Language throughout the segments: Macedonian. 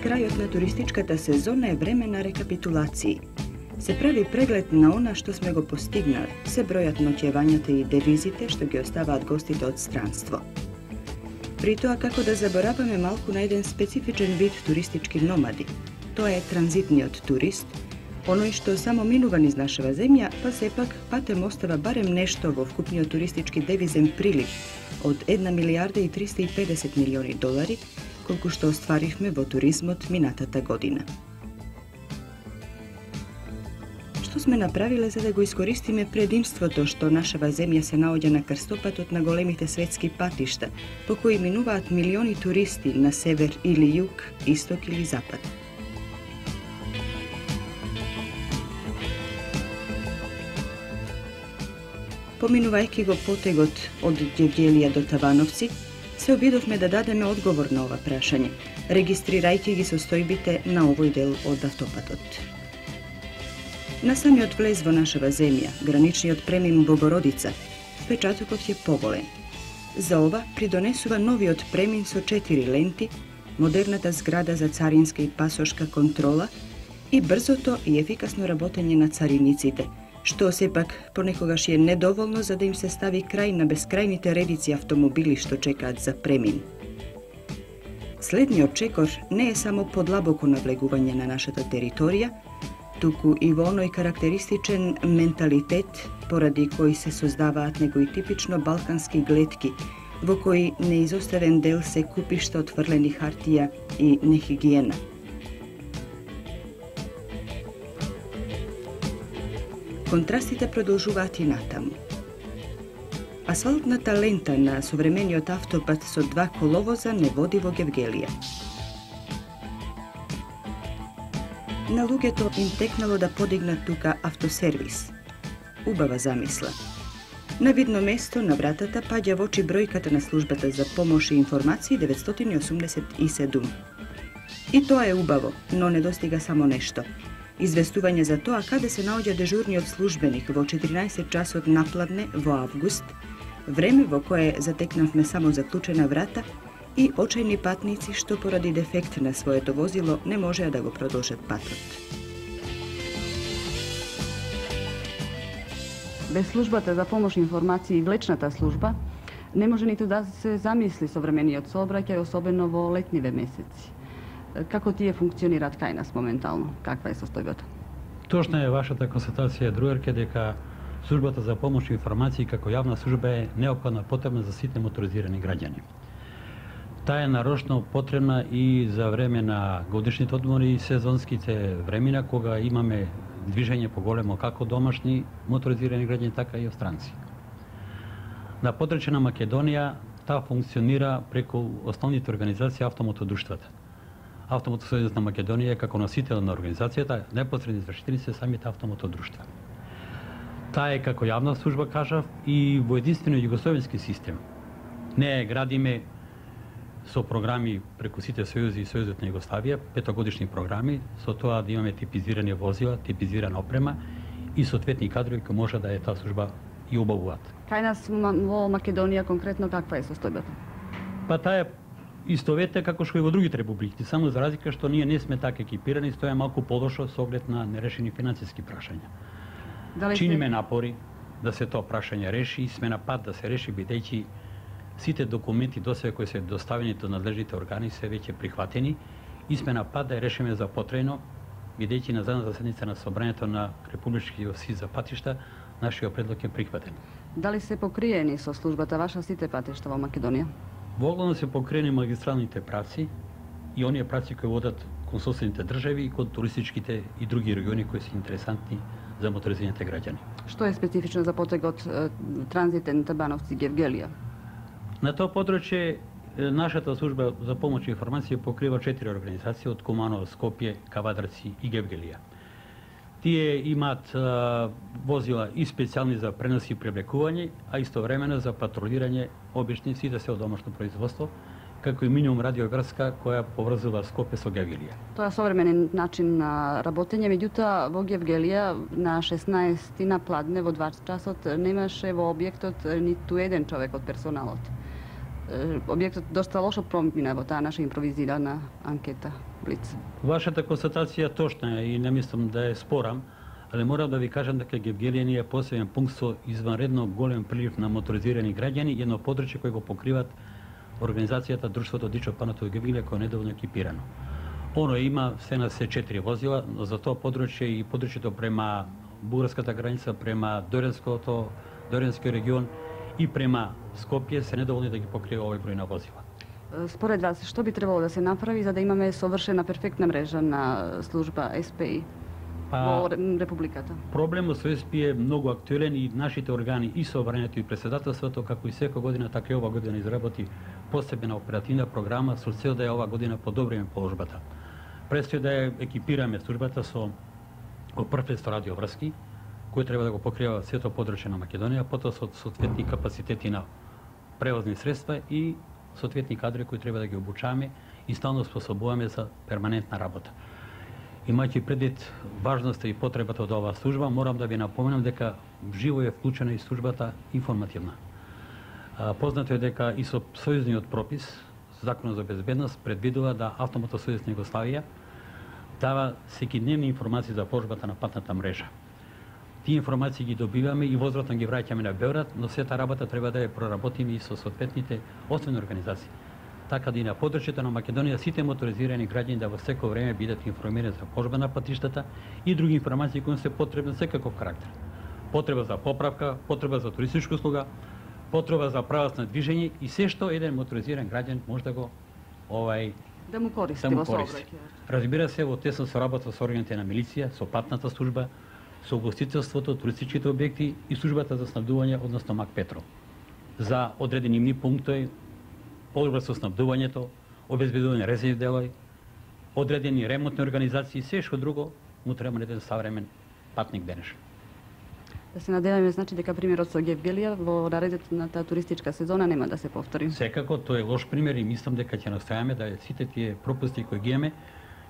крајот на туристичката сезона е време на рекапитулации. Се прави преглед на она што сме го постигнали, се бројат ноќевањата и девизите што ги оставаат гостите од странство. При тоа како да забораваме малку на еден специфичен вид туристички номади. Тоа е транзитниот турист, оној што само минува низ нашава земја, па сепак патем остава барем нешто во вкупниот туристички девизен прилив од 1 милиарда и 350 милиони долари, колку што остваривме во туризмот минатата година. Што сме направиле за да го искористиме предимството што нашава земја се наоѓа на крстопатот на големите светски патишта, по кои минуваат милиони туристи на север или југ, исток или запад? Поминувајќи го потегот од Гевгелија до Тавановци, се обидовме да дадеме одговор на ова прашање, регистрирајќи ги состојбите на овој дел од автопатот. На самиот влез во нашава земја, граничниот премин Богородица, впечатокот е поголем. За ова придонесува новиот премин со 4 ленти, модерната зграда за царинска и пасошка контрола и брзото и ефикасно работење на цариниците, што сепак понекогаш е недоволно за да им се стави крај на бескрајните редици автомобили што чекаат за премин. Следниот чекор не е само подлабоко навлегување на нашата територија, туку и во оној карактеристичен менталитет поради кој се создаваат некои типично балкански глетки, во кои неизоставен дел се купишта од фрлени хартија и нехигиена. Контрастите продолжуваат и натаму. Асфалтната лента на современиот автопат со 2 коловоза не води во Гевгелија. На луѓето им текнало да подигнат тука автосервис. Убава замисла. На видно место на вратата паѓа во очи бројката на службата за помош и информации 987. И тоа е убаво, но недостига само нешто. Известување за тоа каде се наоѓа дежурниот службеник во 14 часот напладне во август, време во кое затекнавме само заклучена врата и очајни патници што поради дефект на своето возило не можеа да го продолжат патот. Без службата за помош информации и влечната служба не може ниту да се замисли современиот сообраќај, особено во летниве месеци. Како тие функционираат кај нас моментално? Каква е состојбата? Точна е вашата констатација, другарке, дека службата за помош и информации како јавна служба е неопходна потребна за сите моторизирани граѓани. Таа е нарочно потребна и за време на годишните одмори и сезонските времена, кога имаме движење поголемо како домашни моторизирани граѓани, така и странци. На подречје на Македонија таа функционира преку основните организации автомотодруштвата. Автомотосојузот на Македонија е како носител на организацијата, непосредни извршители се самите автомотодруштва. Таа е како јавна служба, кажав, и во единствено југословенски систем. Не градиме со програми преку сите сојузи и Сојузот на Југославија, 5-годишни програми, со тоа да имаме типизирани возила, типизирана опрема и соодветни кадрови кои може да е таа служба и убавуваат. Кај нас во Македонија конкретно каква е состојбата? Па таа е истоветна како што и во другите републики, само за разлика што ние не сме така екипирани, тоа е малку подошо со оглед на нерешени финансиски прашања. Чиниме напори да се тоа прашање реши и сме на пат да се реши, бидејќи сите документи досега кои се доставени до надлежните органи се веќе прихватени и сме на пат да ја решиме за потрејно, бидејќи на задната седница на собранието на Републичкиот съд за патишта нашиот предлог е прихватен. Дали се покриени со службата ваша сите патишта во Македонија? Во оглавно се покриени магистралните правци и оние правци кои водат кон соседните држави и кон туристичките и други региони кои се интересантни за моторизираните граѓани. Што е специфично за потегот транзитен Табановци-Гевгелија? На тоа подрачје нашата служба за помош и информација покрива 4 организации од Куманово, Скопје, Кавадарци и Гевгелија. Тие имаат возила и специјални за пренос и привлекување, а истовремено за патрулирање обични сите се од домашно производство, како и минимум радиоградска која поврзува Скопје со Гевгелија. Тоа е современен начин на работење, меѓутоа во Гевгелија на 16 на пладне во 2 часот немаше во објектот ниту еден човек од персоналот. Објектот доста лошо промина во таа наша импровизирана анкета Блиц. Вашата констатација точна е и не мислам да е спорам, але морам да ви кажам дека Гевгелија ни е посебен пункт со изванредно голем прилив на моторизирани граѓани и едно подрачје кој го покриват организацијата Друштвото Дичо Панатово Гевгелија кој е недоволно екипирано. Оно има се на се 4 возила, но за тоа подрачје и подрачјето према бугарската граница, према Доренскиот регион и према Скопје се недоволни да ги покрие овој број на возила. Според вас, што би требало да се направи за да имаме совршена перфектна мрежа на служба СПИ во Републиката? Проблемот со СПИ е многу актуелен и нашите органи и собранието и председателството, како и секоја година, така и ова година изработи посебна оперативна програма со цел да ја ова година подобриме положбата. Престои да ја екипираме службата со прв со радиоврски, кој треба да го покрива сето подрачје на Македонија, потоа со соодветни капацитети на превозни средства и соодветни кадри кои треба да ги обучаваме и стално способуваме за перманентна работа. Имајќи предвид важноста и потребата од оваа служба, морам да ви напоменам дека живо е вклучена и службата информативна. Познато е дека и со сојузниот пропис, Законот за безбедност, предвидува да Автомотор сојуз на Југославија дава секидневни информации за положбата на патната мрежа. Тие информации ги добиваме и возвратно ги враќаме на Белград, но сета работа треба да ја проработиме и со соодветните освени организации. Така да и на подрачјето на Македонија сите моторизирани граѓани да во секој време бидат информирани за положба на патиштата и други информации кои се потребни за секаков карактер. Потреба за поправка, потреба за туристичка услуга, потреба за правец на движење и се што еден моторизиран граѓан може да го да му користи во сообраќајот. Разбира се, во тесно соработа со органите на милиција, со патната служба, со угостителството, туристичките објекти и службата за снабдување, односно МАК Петрол. За одредени имни пунктови, подобро со снабдувањето, обезбедување резервни делови, одредени ремонтни организации и се што друго му треба еден savremen патник денеш. Да се надеваме, значи дека примерот со Гевгелија во наредната туристичка сезона нема да се повтори. Секако, тоа е лош пример и мислам дека ќе настојаме да сите тие пропусти кои ги имаме.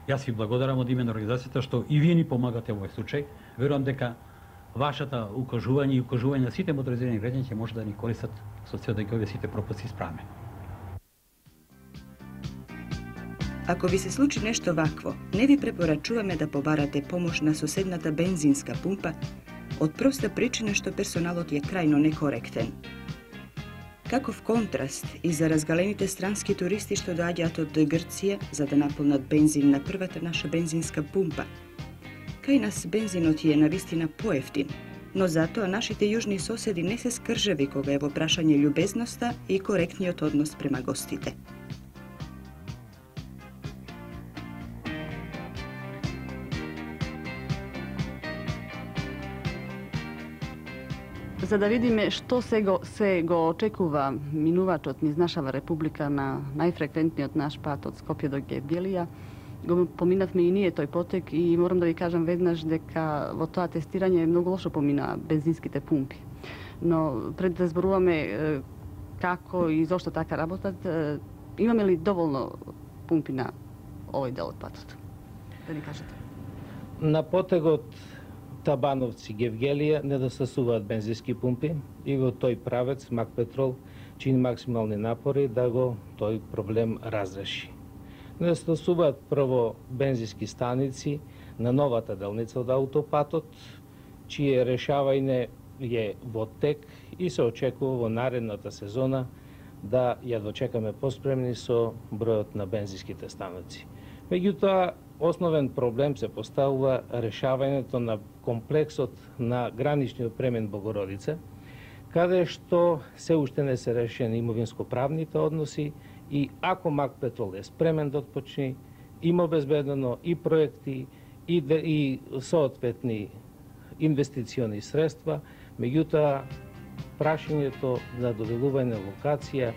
Јас ви благодарам од име на организацијата што и вие ни помагате во овој случај. Верувам дека вашата укажување и укажување на сите моторизирани граѓани ќе може да ни користат со цел да ги овие сите пропусти исправиме. Ако ви се случи нешто вакво, не ви препорачуваме да побарате помош на соседната бензинска пумпа, од проста причина што персоналот е крајно некоректен. Каков контраст и за разгалените странски туристи што доаѓаат од Грција за да наполнат бензин на првата наша бензинска пумпа. Кај нас бензинот е навистина поевтин, но затоа нашите јужни соседи не се скржеви кога е во прашање љубезноста и коректниот однос према гостите. За да видиме што се го очекува минувачот низ нашава република на најфреквентниот наш пат од Скопје до Гевгелија, го поминавме и ние тој потек и морам да ви кажам веднаш дека во тоа тестирање многу лошо помина бензинските пумпи. Но пред да зборуваме како и зошто така работат, имаме ли доволно пумпи на овој дел од патот? Да ни кажете. На потегот Табановци Гевгелија недостасуваат бензински пумпи и во тој правец МАК Петрол чини максимални напори да го тој проблем разреши. Недостасуваат прво бензински станици на новата делница од аутопатот, чие решавање е во тек и се очекува во наредната сезона да ја дочекаме поспремни со бројот на бензинските станици. Меѓутоа, основен проблем се поставува решавањето на комплексот на граничниот премен Богородица, каде што се уште не се решени имовинско-правните односи и ако МАК Петрол е спремен да отпочне, има обезбедено и проекти и соодветни инвестициони средства, меѓутоа прашањето за доделување локација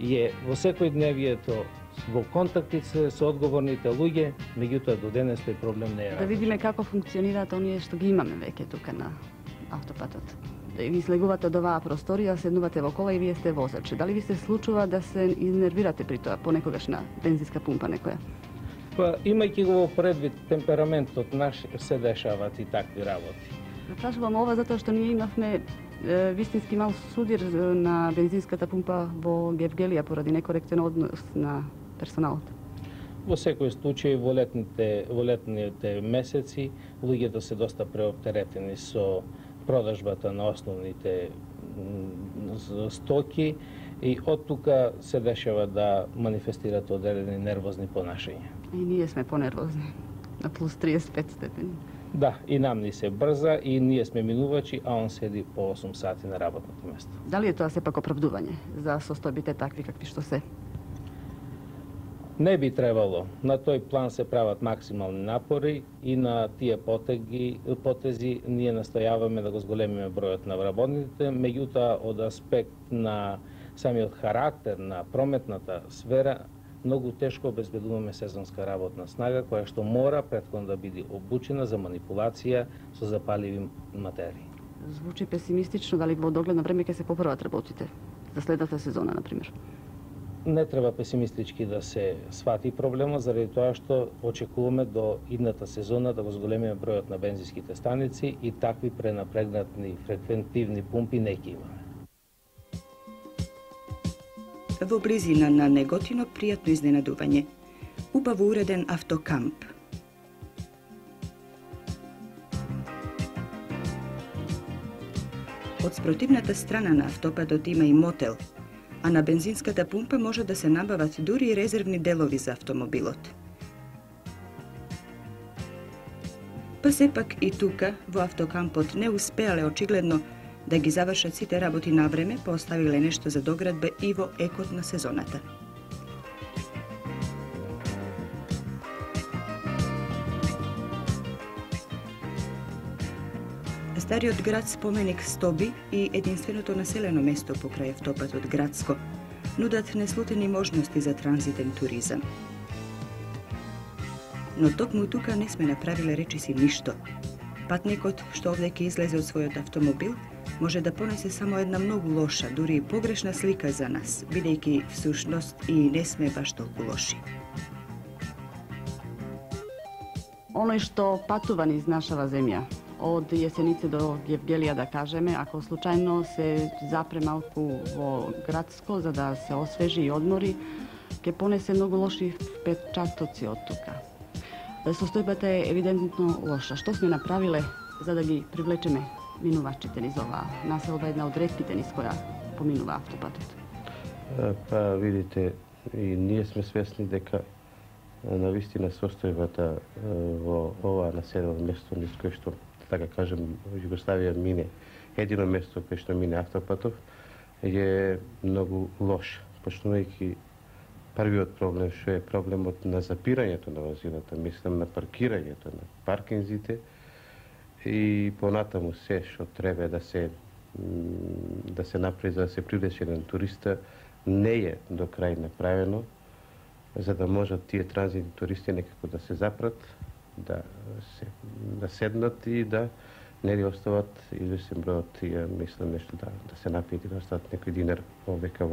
е во секојдневието во контактите со одговорните луѓе, меѓутоа до денес тој проблем не е. Да видиме како функционираат оние што ги имаме веќе тука на автопатот. Ви слегувате од оваа просторија, седнувате во кола и вие сте возач. Дали ви се случува да се изнервирате при тоа понекогаш на бензинска пумпа некоја? Па, имајќи го предвид темпераментот наш, се дешаваат и такви работи. Прашувам ова затоа што ние имавме Вистински мал судир на бензинската пумпа во Гевгелија поради некоректен однос на персоналот. Во секој случај, во летните месеци, луѓето се доста преоптеретени со продажбата на основните стоки и од тука се дешава да манифестират одредени нервозни понашања. И ние сме понервозни, на плюс 35 степени. Да, и нам ни се брза и ние сме минувачи, а он седи по 8 сати на работното место. Дали е тоа сепак оправдување за состојбите такви какви што се? Не би требало. На тој план се прават максимални напори и на тие потези ние настојаваме да го зголемиме бројот на вработниците, меѓутоа од аспект на самиот характер на прометната сфера многу тешко обезбедуваме сезонска работна снага која што мора претходно да биде обучена за манипулација со запаливи материи. Звучи песимистично, дали во догледно време ќе се поправат работите за следната сезона, например? Не треба песимистички да се свати проблемот, заради тоа што очекуваме до идната сезона да го зголемиме бројот на бензинските станици и такви пренапрегнатни фреквентивни пумпи не ќе имаме. Во близина на Неготино пријатно изненадување. Убаво уреден автокамп. Од спротивната страна на автопатот има и мотел, а на бензинската пумпа може да се набават дури и резервни делови за автомобилот. Па сепак и тука, во автокампот, не успеале очигледно да ги завршат сите работи на време, поставиле нешто за доградба и во екот на сезоната. Стариот град споменик Стоби и единственото населено место покрај автопатот Градско нудат неслутени можности за транзитен туризам. Но токму тука не сме направиле речиси ништо. Патникот што овде ќе излезе од својот автомобил може да понесе само една многу лоша, дури и погрешна слика за нас, бидејќи всушност и не сме баш толку лоши. Оној што патува низ нашава земја, од Јесенице до Гевгелија да кажеме, ако случајно се запре малку во Градско за да се освежи и одмори, ќе понесе многу лоши впечатоци од тука. Состојбата е евидентно лоша. Што сме направиле за да ги привлечеме минувачите низ оваа населба, една од ретките низ која поминува автопатот? Па видите, и ние сме свесни дека навистина состојбата во ова населено место низ кое што, така кажем, Југославија мине, едино место кое што мине автопатов, е многу лош, почнувајќи првиот проблем што е проблемот на запирањето на возилата, мислам на паркирањето на паркинзите и понатаму се што треба да се направи за да се привлече еден туриста не е до крај направено, за да можат тие транзитни туристи некако да се запрат, да седнат и да не ли остават известен број од тие, мислам нешто да се напијат и да остават некој динар овека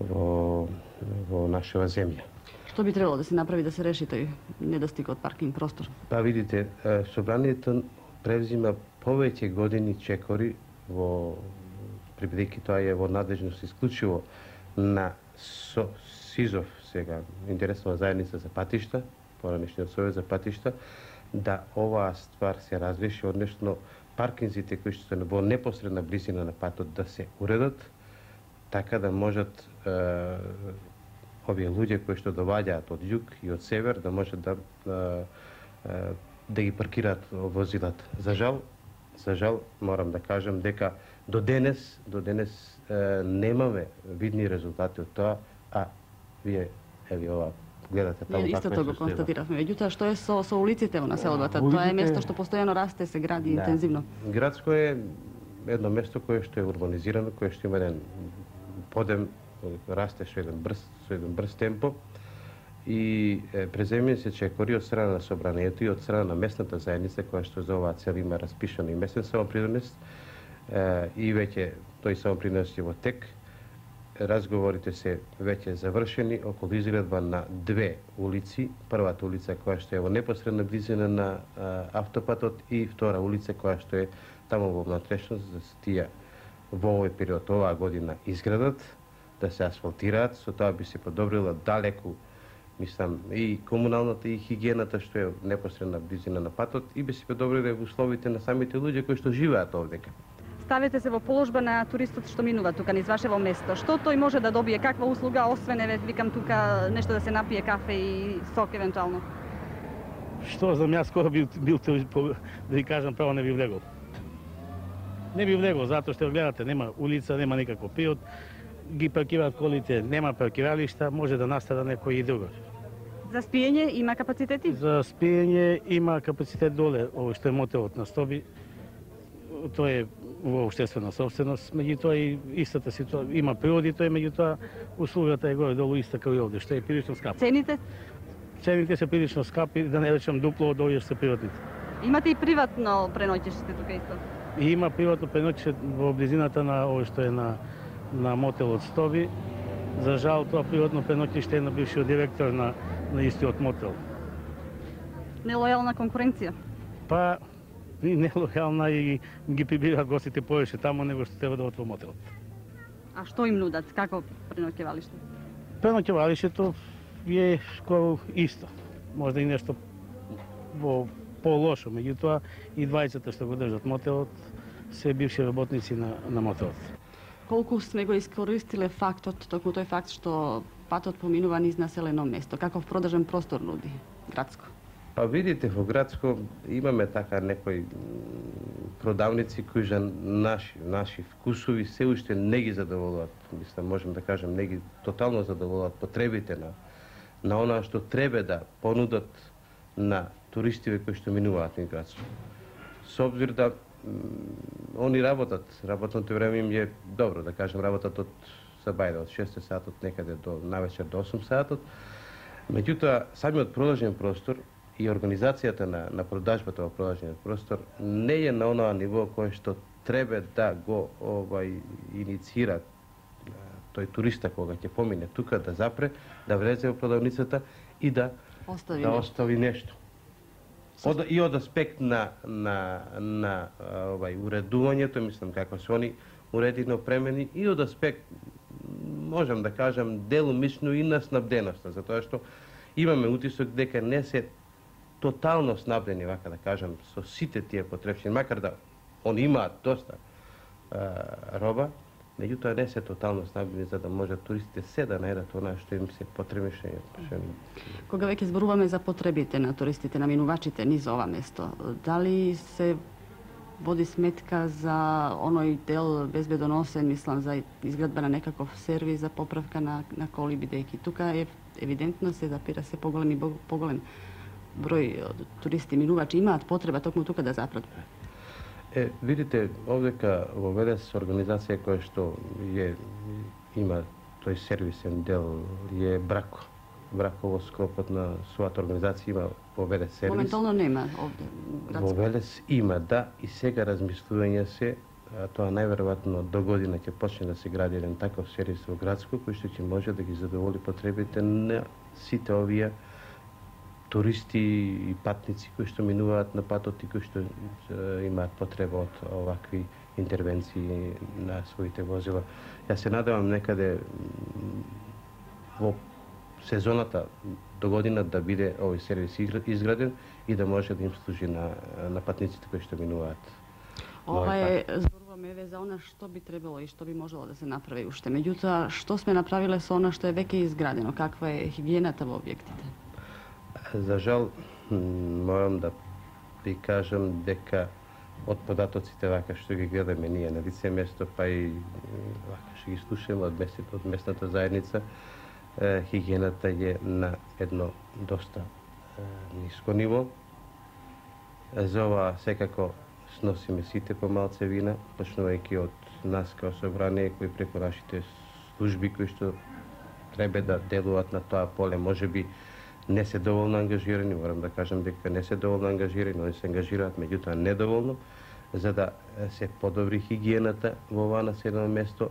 во нашава земја. Што би требало да се направи да се реши тој недостиг од паркинг простор? Па видите, собранието превзима повеќе години чекори бидејќи тоа е во надлежност исклучиво на СИЗОВ, сега интересна заедница за патишта, поранешниот совет за патишта, да оваа ствар се разреши, односно паркинзите кои што се во непосредна близина на патот да се уредат, така да можат овие луѓе кои што доваѓаат од југ и од север да можат да ги паркираат возилата. За жал морам да кажам дека до денес немаме видни резултати од тоа, а вие ова гледате таму како истото го констатиравме. Меѓутоа, што е со улиците во населбата? Тоа е место што постојано расте, се гради интензивно. Градско е едно место кое што е урбанизирано, кое што има еден подем, расте со еден брз темпо и преземени се чекори од страна на собранието и од страна на местната заедница која што за оваа цел има распишано и местен самопринос и веќе тој самопринос е во тек. Разговорите се веќе завршени околу изградба на две улици. Првата улица која што е во непосредна близина на автопатот и втора улица која што е таму во внатрешност за тие во овој период, оваа година, изградат, да се асфалтираат, со тоа би се подобрила далеку, мислам, и комуналната и хигиената што е непосредна близина на патот, и би се подобриле условите на самите луѓе кои што живеат овдека. Ставите се во положба на туристот што минува тука низ вашево место. Што тој може да добие, каква услуга, освен викам тука нешто да се напие кафе и сок евентуално? Што знам, јас кога бил да ви кажам право, не би влегол. Не би влегол, затоа што гледате, нема улица, нема никаков приод, ги паркираат колите, нема паркиралишта, може да настада некој и друго. За спиење има капацитети? За спиење има капацитет доле, ово што е мотелот на Стоби, тоа е во општествена собственост, меѓутоа и истата ситуација, има природи, тоа меѓутоа услугата е горе долу иста како и овде, што е прилично скапо. Цените? Цените се прилично скапи, да не речем дупло од овие што се приватните. Имате и приватно преноќиште тука исто? И има приватно преноќиште во близината на ово што е на мотелот Стоби. За жал, тоа приватно преноќиште е на бившиот директор на истиот мотел. Нелојална конкуренција? Па, и нелојална, и ги прибираат гостите повеќе таму него што треба да отвор мотелот. А што им нудат? Како преноќевалиште? Преноќевалишето е скоро исто. Можда и нешто во по-лошо, меѓутоа и двајцата што го држат мотелот се бивши работници на мотелот. Колку сме го искористиле фактот, токму тој факт што патот поминува низ населено место? Каков продажен простор нуди градско? Па видите, во градско имаме така некои продавници кои за наши вкусови се уште не ги задоволуваат. Мислам, можем да кажем, не ги тотално задоволуваат потребите на онаа што треба да понудат на туристите кои што минуваат низ градско. Со обзир да они работното време им е добро, да кажем, работат од Сабајда, од 6 сатот некаде до навечер до 8 сатот. Меѓутоа, самиот продажен простор и организацијата на продажбата во продажниот простор не е на онаа ниво кое што треба да го инициира тој туриста кога ќе помине тука, да запре, да влезе во продавницата и да остави нешто. И од аспект на уредувањето, мислам како се они уредени, опремени, и од аспект, можам да кажам, делумично и на снабденоста, затоа што имаме утисок дека не се тотално снабдени, вака да кажам, со сите тие потребшини, макар да они имаат доста роба, меѓутоа не се тотално снабдени за да може туристите се да најдат онаа што им се потребеше. Кога веќе зборуваме за потребите на туристите, на минувачите низ ова место, дали се води сметка за оној дел безбедоносен, мислам, за изградба на некаков сервис за поправка на коли, бидејќи тука е евидентно се запира се поголем број туристи, минувачи имаат потреба токму тука да запрат? Видите, овдека во Велес организација која што има тој сервисен дел е Брако. Брако во склопот на својата организација има во Велес сервис. Моментално нема овде. Во Велес има, да, и сега размислување се, тоа најверојатно до година ќе почне да се гради еден таков сервис во градско, кој што ќе може да ги задоволи потребите на сите овие туристи и патници кои што минуваат на патот и кои што имаат потреба од овакви интервенции на своите возила. Јас се надевам некаде во сезоната до година да биде овој сервис изграден и да може да им служи на патниците кои што минуваат. Ова е, зборуваме за она што би требало и што би можело да се направи уште. Меѓутоа, што сме направиле со она што е веќе изградено? Каква е хигиената во објектите? За жал, морам да ви кажам дека од податоците вака што ги гледаме ние на лице место, па и вака што ги слушаме од местната заедница, хигиената е на едно доста ниско ниво. За ова секако сносиме сите помалце вина, почнувајќи од нас као собрание, кои преку нашите служби кои што треба да делуваат на тоа поле, можеби не се доволно ангажирани, морам да кажам дека не се доволно ангажирани, они се ангажираат, меѓутоа недоволно, за да се подобри хигиената во ова населено место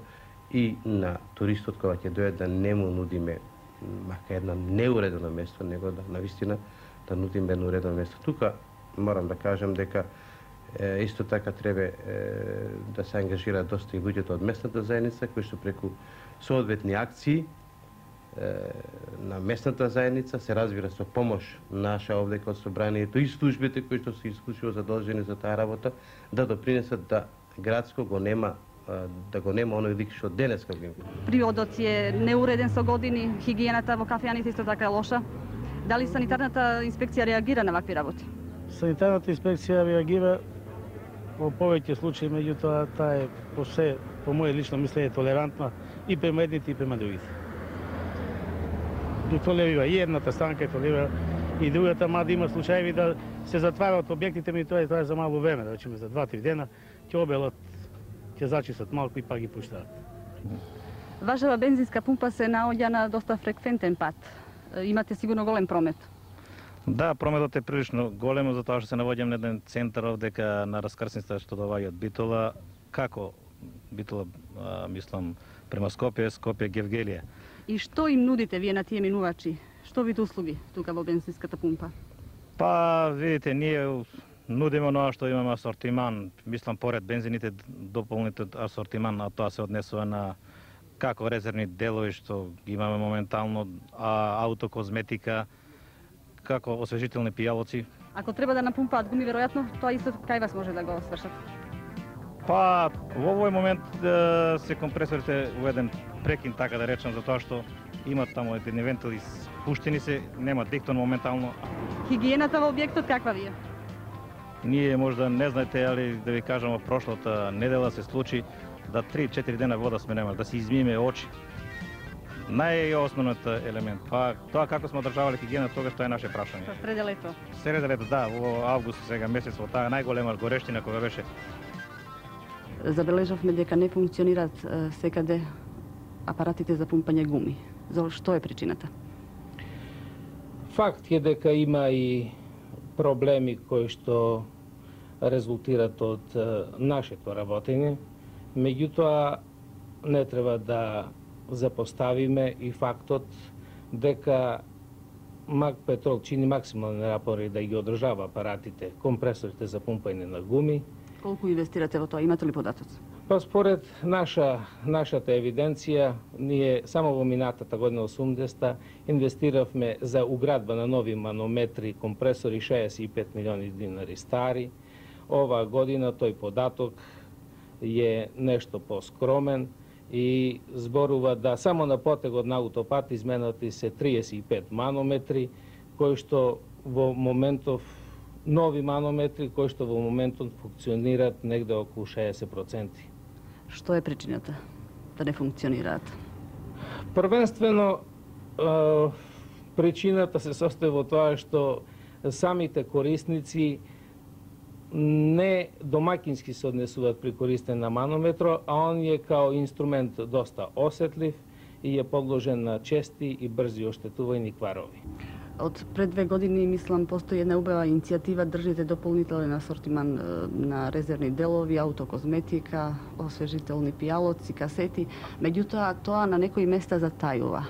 и на туристот кога ќе дојде да не му нудиме мака едно неуредено место, него да навистина да нудиме едно уредено место. Тука морам да кажам дека Исто така треба да се ангажира доста и луѓето од местната заедница, кои што преку соодветни акции на местната заедница се разбира со помош наша овде од собранието и службите кои што се исклучиво задолжени за таа работа да допринесат да градско го нема оној лик што денеска го има. Приводот е неуреден со години, хигиената во кафејаните исто така е лоша. Дали санитарната инспекција реагира на вакви работи? Санитарната инспекција реагира во повеќе случаи, меѓутоа таа е по моје лично мислење толерантна и према едните и према другите. И толерира и едната странка и толерира и другата, мада има случаи да се затварат објектите, меѓутоа тоа е за мало време, да речеме за 2-3 дена, ќе обелат, ќе зачистат малку и пак ги пуштаат. Вашава бензинска пумпа се наоѓа на доста фреквентен пат. Имате сигурно голем промет. Да, прометот е прилично голем, затоа што се наоѓам на еден центар овдека на раскрсница што доаѓа од Битола. Како Битола, мислам, према Скопје, Скопје, Гевгелија. И што им нудите вие на тие минувачи? Што види услуги тука во бензинската пумпа? Па, видите, ние нудиме оноа што имаме асортиман, мислам, поред бензините, дополнителен асортиман, а тоа се однесува на како резервни делови што имаме моментално, аутокозметика, како освежителни пијалоци. Ако треба да напумпаат гуми, веројатно тоа исто кај вас може да го свршат. Па, во овој момент се компресорите во еден прекин, така да речам, затоа што имат таму едни вентили спуштени се, нема диктон моментално. Хигиената во објектот каква ви е? Ние можда не знаете, али да ви кажам, во прошлата недела се случи да 3-4 дена вода сме немали, да си измиеме очи. Најосновниот елемент. Па тоа како сме одржавале хигиена, тогаш тоа е наше прашање. Среде лето. Среде лето, да, во август сега месец, во таа најголема горештина кога беше. Забележавме дека не функционираат секаде апаратите за пумпање гуми. За што е причината? Факт е дека има и проблеми кои што резултират од нашето работење, меѓутоа не треба да запоставиме и фактот дека МАК Петрол чини максимални напори да ги одржава апаратите, компресорите за пумпање на гуми. Колку инвестирате во тоа? Имате ли податоци? Па според нашата евиденција, ние само во минатата година 80-та инвестиравме за уградба на нови манометри, компресори 65 милиони динари стари. Оваа година тој податок е нешто поскромен и зборува да само на потегот на аутопат изменати се 35 манометри, кои што во моментов нови манометри кои што во моментот функционираат негде околу 60%. Што е причината да не функционираат? Првенствено, причината се состои во тоа што самите корисници не домакински се однесуваат при користење на манометро, а он е као инструмент доста осетлив и е подложен на чести и брзи оштетувања и кварови. Од пред 2 години, мислам, постои една убава иницијатива, држите дополнителен асортиман на резервни делови, аутокозметика, освежителни пијалоци, касети. Меѓутоа, тоа на некои места затајува.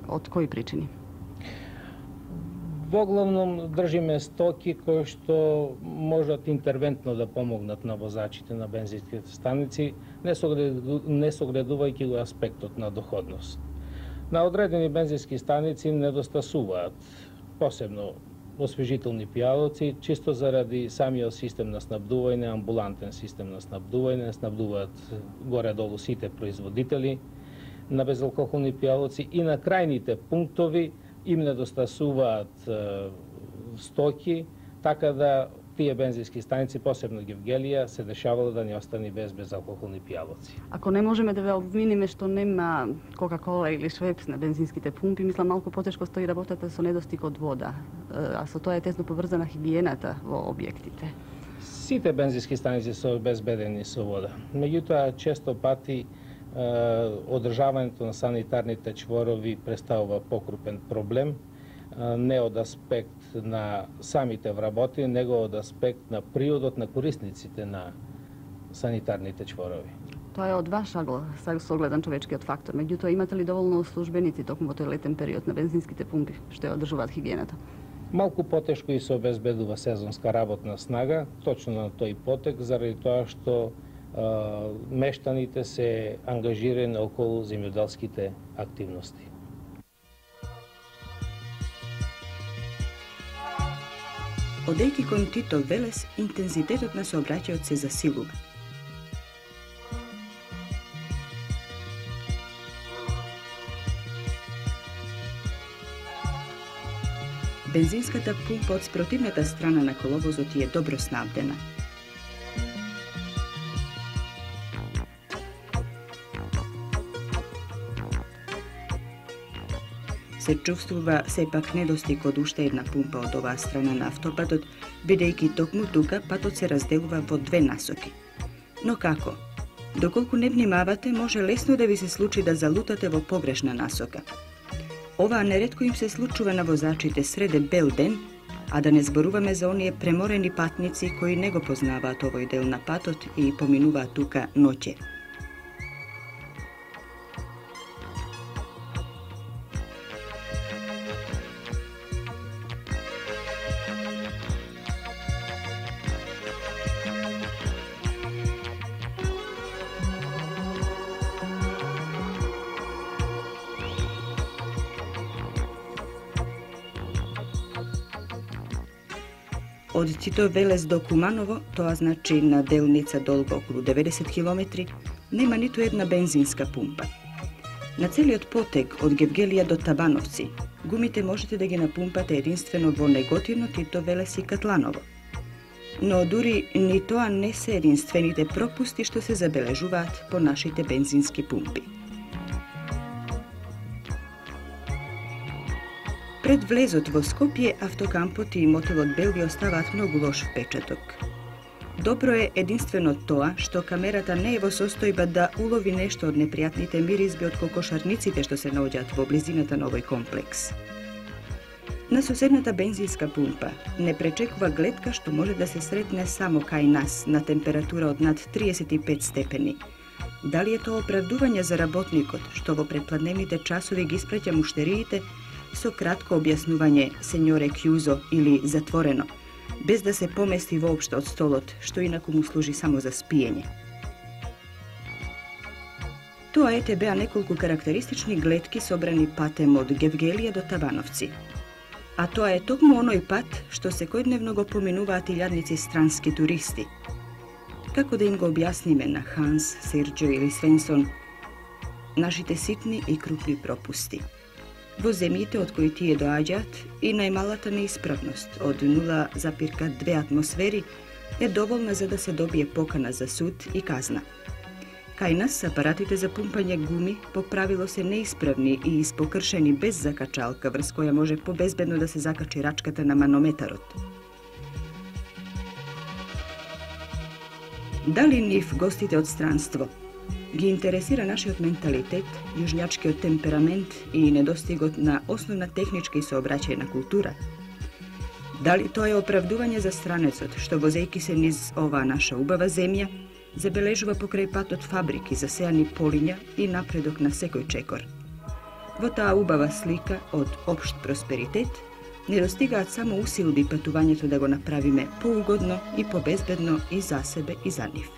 Од кои причини? Во главном држиме стоки кои што можат интервентно да помогнат на возачите на бензинските станици, не согледувајќи го аспектот на доходност. На одредени бензински станици недостасуваат, посебно освежителни пијалоци, чисто заради самиот систем на снабдување, амбулантен систем на снабдување, снабдуваат горе-долу сите производители на безалкохолни пијалоци и на крајните пунктови им недостасуваат стоки, така да тие бензински станици, посебно Гевгелија, се дешавало да не остани без безалкохолни пијалоци. Ако не можеме да ве обвиниме што нема Кока-кола или Швепс на бензинските пумпи, мислам малку потешко стои работата со недостиг од вода, а со тоа е тесно поврзана хигиената во објектите. Сите бензински станици се обезбедени со вода. Меѓутоа, често пати одржавањето на санитарните чворови представува покрупен проблем, не од аспект на самите вработи, него од аспект на приодот на корисниците на санитарните чворови. Тоа е од ваш агл, согледан човечкиот фактор. Меѓутоа, имате ли доволно службеници токму во тој летен период на бензинските пумпи што ја одржуваат хигиената? Малку потешко и се обезбедува сезонска работна снага, точно на тој потек, заради тоа што мештаните се ангажирани околу земјоделските активности. Одејќи кон Тито Велес, интензитетот на сообраќајот се засилува. Бензинската пумпа од спротивната страна на коловозот е добро снабдена. Се чувствува сепак недостиг од уште една пумпа од оваа страна на автопатот, бидејќи токму тука патот се разделува во две насоки. Но како? Доколку не внимавате, може лесно да ви се случи да залутате во погрешна насока. Оваа неретко им се случува на возачите среде бел ден, а да не зборуваме за оние преморени патници кои не го познаваат овој дел на патот и поминуваат тука ноќе. Од Тито Велес до Куманово, тоа значи на делница долга околу 90 километри, нема ниту една бензинска пумпа. На целиот потег од Гевгелија до Табановци, гумите можете да ги напумпате единствено во Неготино, Тито Велес и Катланово. Но дури ни тоа не се единствените пропусти што се забележуваат по нашите бензински пумпи. Пред влезот во Скопје, автокампот и мотелот Белви оставаат многу лош впечаток. Добро е единствено тоа што камерата не е во состојба да улови нешто од непријатните миризби од кокошарниците што се наоѓаат во близината на овој комплекс. На соседната бензинска пумпа не пречекува гледка што може да се сретне само кај нас на температура од над 35 степени. Дали е тоа оправдување за работникот што во предпладневните часови ги испраќа муштериите со кратко објаснување сеньоре Кјузо или затворено, без да се помести воопшто од столот, што инаку му служи само за спиење. Тоа ете беа неколку карактеристични гледки собрани патем од Гевгелија до Табановци. А тоа е токму оној пат што секојдневно го поминуваат илјадници странски туристи. Како да им го објасниме на Ханс, Серџио или Свенсон нашите ситни и крупни пропусти? Во земјите од кои тие доаѓаат и најмалата неисправност од 0,2 атмосфери е доволна за да се добие покана за суд и казна. Кај нас апаратите за пумпање гуми по правило се неисправни и испокршени без закачалка, врз која може побезбедно да се закачи рачката на манометарот. Дали нив гостите од странство ги интересира нашиот менталитет, јужњачкиот темперамент и недостигот на основна техничка и сообраќајна култура? Дали тоа е оправдување за странецот, што возејќи се низ оваа наша убава земја, забележува покрај патот фабрики, засеани полиња и напредок на секој чекор? Во таа убава слика од општ просперитет, не достигаат само усилби патувањето да го направиме поугодно и побезбедно и за себе и за нив.